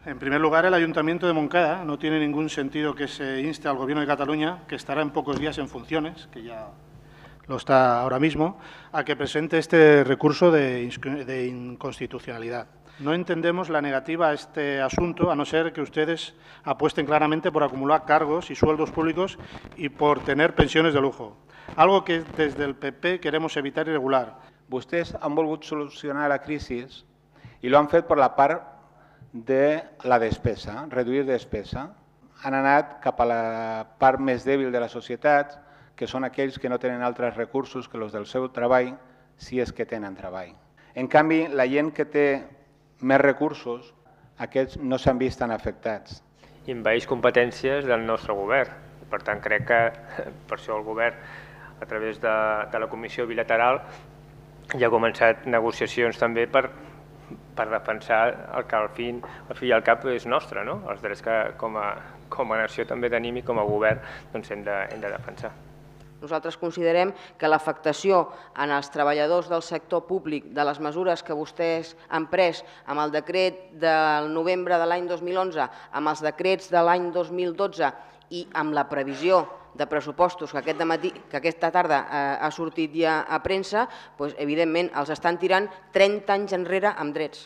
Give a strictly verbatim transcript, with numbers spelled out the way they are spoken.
En primer lugar, el Ayuntamiento de Montcada no tiene ningún sentido que se inste al Gobierno de Cataluña, que estará en pocos días en funciones, que ya lo está ahora mismo, a que presente este recurso de, de inconstitucionalidad. No entendemos la negativa a este asunto, a no ser que ustedes apuesten claramente por acumular cargos y sueldos públicos y por tener pensiones de lujo, algo que desde el P P queremos evitar y regular. Vostès han volgut solucionar la crisi i lo han fet per la part de la despesa, reduir despesa. Han anat cap a la part més dèbil de la societat, que són aquells que no tenen altres recursos que els del seu treball, si és que tenen treball. En canvi, la gent que té més recursos, aquests no s'han vist tan afectats. I envaeix competències del nostre govern. Per tant, crec que per això el govern, a través de, de la comissió bilateral, ja ha començat negociacions també per, per defensar el que al fi, al fi i al cap és nostre, no? Els drets que com a, com a nació també tenim i com a govern doncs hem, de, hem de defensar. Nosaltres considerem que l'afectació en els treballadors del sector públic de les mesures que vostès han pres amb el decret del novembre de l'any dos mil onze, amb els decrets de l'any dos mil dotze i amb la previsió de pressupostos que, aquest dematí, que aquesta tarda eh, ha sortit ja a premsa, doncs, evidentment els estan tirant trenta anys enrere amb drets.